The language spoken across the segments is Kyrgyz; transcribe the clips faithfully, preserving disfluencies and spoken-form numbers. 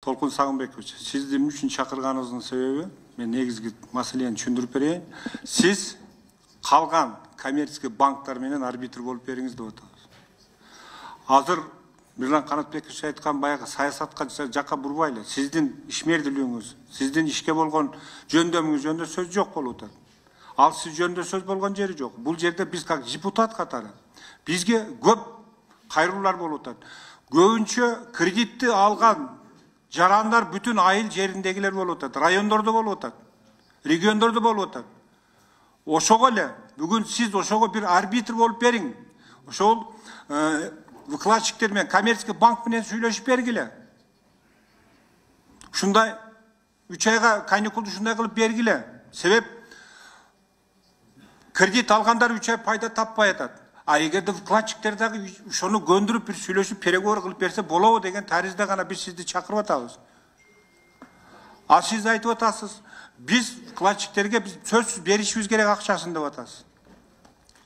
Толкун Сагынбекович, сизди эмне үчүн чакырганыбыздын себеби, мен негизги маселени түшүндүрүп берейин. Сиз калган коммерческий банктар менен арбитр болуп бериңиз деп атабыз. Азыр Мирлан Канатбекович айткан баягы саясатка жакка бурбайлы. Сиздин ишмердүүлүгүңүз, сиздин ишке болгон жөндөмүңүз жөнүндө сөз жок болуп атат. Ал сиз жөнүндө сөз болгон жери жок. Бул жерде биз как депутат катары бизге көп кайрылуулар болуп атат. Көбүнчө кредитти алган жарандар бүтүн айыл жериндегилер болуп атат, райондордо болуп атат, региондордо болуп атат. Ошого эле бүгүн сиз ошого бир арбитр болуп бериң. Ошол выкладчиктер менен коммерческий банк менен сүйлөшүп бергиле. Ушундай үч айга каникулду ушундай кылып бергиле. Себеп кредит алгандар үч ай пайда таппай атат. А эгерде вкладчиктер дагы ошону көндүрүп бир сүйлөшүп переговор кылып берсе болобу деген таризде гана биз сизди чакырып атабыз. А сиз айтып атасыз, биз вкладчиктерге биз сөзсүз беришибиз керек акчасын деп атасыз.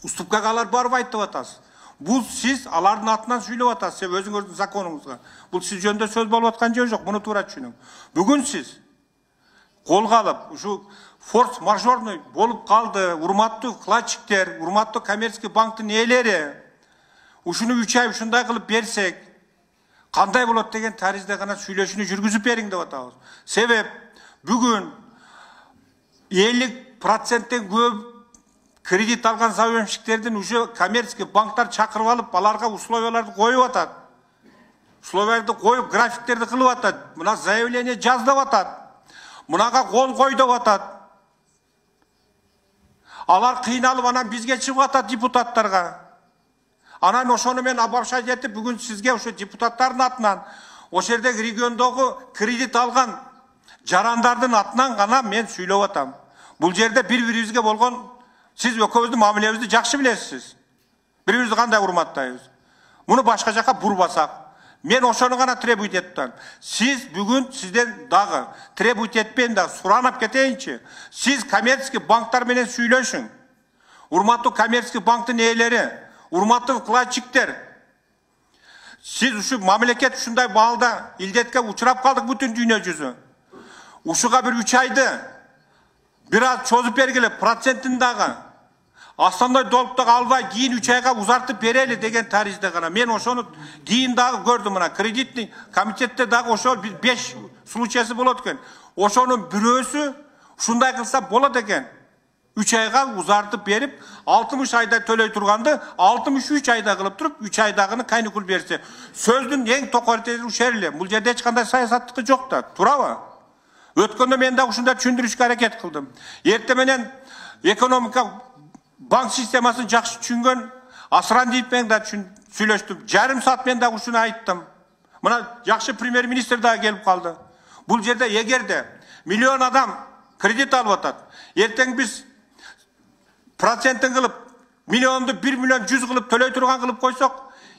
Уступкага алар барбайт деп атасыз. Бул сиз алардын атынан сүйлөп атасыз, өзүңүздүн законуңузга. Бул сиз жөнүндө сөз болуп аткан жери жок, муну туура түшүнүң. Бүгүн сиз колго алып, ушу форс-мажорный болуп калды, урматтуу вкладчиктер, урматтуу коммерческий банктын ээлери, ушуну үч ай ушундай кылып берсек, кандай болот деген таризде гана сүйлөшүүнү жүргүзүп бериң деп атабыз. Себеп бүгүн элүү проценттен көп кредит алган заемщиктердин уже коммерческий банктар чакырып алып, аларга условияларды коюп атат. Условияларды коюп, графиктерди кылып атат. Мына заявление жаз деп атат. Мунага кол кой деп атат. Алар кыйналып анан бизге чыгып атат депутаттарга. Анан ошону мен обобщать этип бүгүн сизге ошо депутаттардын атынан, ошол жердеги региондогу кредит алган жарандардын атынан гана мен сүйлөп атам. Бул жерде бири-бирибизге болгон сиз экөөбүздүн мамилебизди жакшы билесиз. Бири-бирибизди кандай урматтайбыз. Муну башка жакка бурбасак, мен ошону гана требуйт этип атам. Сиз бүгүн сизден дагы требуйт этпейин да суранып кетейинчи. Сиз коммерческий банктар менен сүйлөшүң. Урматтуу коммерческий банктын ээлери, урматтуу вкладчиктер. Сиз ушу мамлекет ушундай маалда илдетке учурап калдык бүтүн дүйнө жүзү. Ушуга бир үч айды бир аз чозуп бергиле, процентин дагы основной долгтогу албай кийин үч айга узартып берели деген таризде гана. Мен ошону кийин дагы көрдүм, мына кредитный комитетте дагы ошол беш случайсы болот экен. Ошонун бирөөсү ушундай кылса болот экен. үч айга узартып берип, алтымыш айда төлөй турганды алтымыш үч айда кылып туруп, үч айдагыны каникул берсе. Сөздүн эң токойртери ушул эле. Бул жерде эч кандай саясаттыкы жок да, туурабы? Өткөндө мен дагы ушундай түшүндүрүшкө аракет кылдым. Эрте менен экономика банк системасын жакшы түшүнгөн Асрандиев менен да сүйлөштүм. Жарым саат мен дагы ушуну айттым. Мына жакшы премьер-министр дагы келип калды. Бул жерде эгерде миллион адам кредит алып атат, эртең биз процентин кылып, миллионду бир миллион жүз кылып төлөй турган кылып койсок,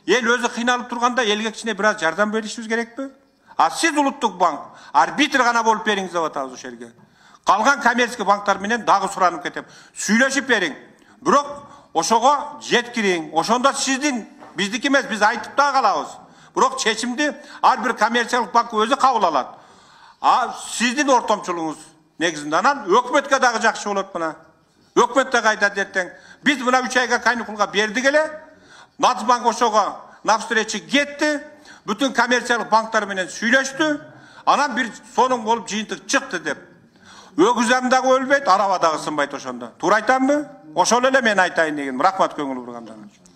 эл өзү кыйналып турганда элге кичине бир аз жардам беришибиз керекпи? А сиз улуттук банк арбитр гана болуп бериңиз деп атабыз ошол жерге. Калган коммерческий банктар менен дагы суранып кетем. Сүйлөшүп бериң. Бирок ошого жеткириң. Ошондо сиздин биздики эмес, биз айтып да калабыз. Бирок чечимди ар бир коммерциялык банк өзү кабыл алат. А сиздин ортомчулугуңуз негизинде анан өкмөткө дагы жакшы болот мына. Өкмөт дагы айтат эртең. Биз мына үч айга каникулга бердик эле. Нацбанк ошого навстречу кетти. Бүтүн коммерциялык банктар менен сүйлөштү. Анан бир сонун болуп жыйынтык чыкты деп. Өгүзөм дагы өлбөйт, араба дагы сынбайт ошондо. Туура айтамбы? Ошол эле мен айтайын деген. Рахмат көңүл бургандарыңыз үчүн.